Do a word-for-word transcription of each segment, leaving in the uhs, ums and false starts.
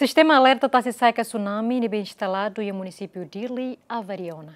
Sistema alerta tasi-sa'e ka tsunami ne'ebé instaladu iha munisípiu Dili avaria ona.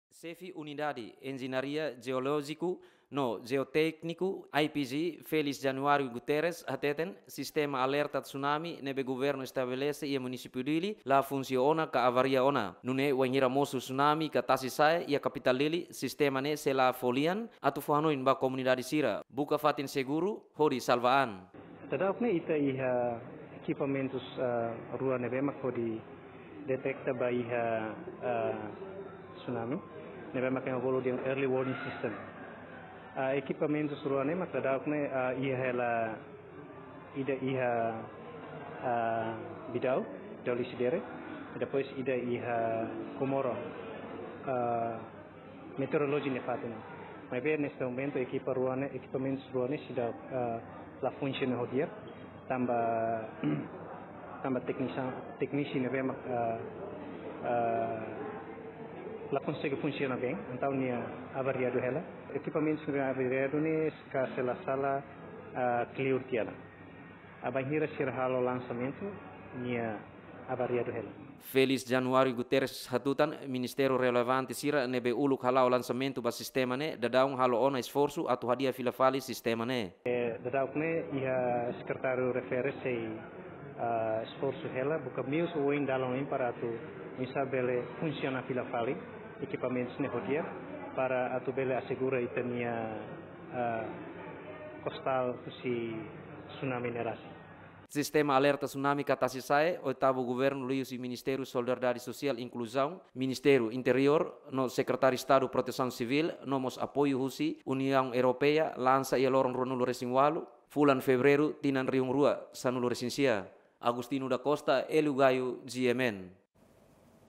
Xefe Unidade Enjeñaria Jeolójiku no Jeotékniku, I P G, Félix Januário Guterres, hateten sistema alerta tsunami ne'ebé governu estabelese iha munisípiu Dili la funsiona ka avaria ona. Nune'e wainhira mosu tsunami ka tasi-sa'e iha kapitál Dili, sistema ne'e sei la fó lian atu fó hanoin ba komunidade sira buka fatin seguru hodi salva an. Daudauk ne'e ita iha ekipamentus, ah, rua ne'ebé mak hodi detekta ba iha, ah, tsunami, ne'ebé mak ema bolu dehan early warning system. Ah, ekipamentus rua ne'e mak daudauk ne'e, ah, iha hela, ida iha, ah, Bidau, Bidau Lisidere, depois ida iha Comoro, ah, meteorologia nia fatin. Maibé neste momento ekipa rua ne'e, ekipamentus rua ne'e seidauk, ah, la funsiona ho di'ak, tanba, tanba teknisa-, teknisi ne'ebé mak, ah, ah, la konsege funsiona bem, entaun nia avariadu hela. Ekipamentus ne'ebé avariadu ne'e, karik la sala, ah, kleur tiha ona. Ah, bainhira sira halo lansamentu, nia avariadu hela. Félix Januário Guterres hatutan ministériu relevante sira ne'ebé uluk hala'o lansamentu ba sistema ne'e daudaun halo ona esforsu atu hadi'a fila fali sistema ne'e. Eh, daudauk ne'e iha sekretáriu refere sei, ah, esforsu hela buka meius oioin dalan oioin para atu oinsá bele funsiona fila fali ekipamentus ne'e ho di'ak para atu bele asegura ita-nia, ah, kostál husi tsunami ne'e rasik. Sistema alerta tsunami ka tasi-sa'e, oitavu governu liuhusi Ministériu Solidariedade Sosiál Inkluzaun, Ministériu Interiór, no Sekretáriu Estadu Protesaun Sivíl, no mós apoiu husi Uniaun Europeia, lansa iha loron ruanulu-resin-ualu, fulan Fevereiru, tinan rihun rua sanulu-resin-sia. Agostinho da Costa, Hélio Gaio, G M N.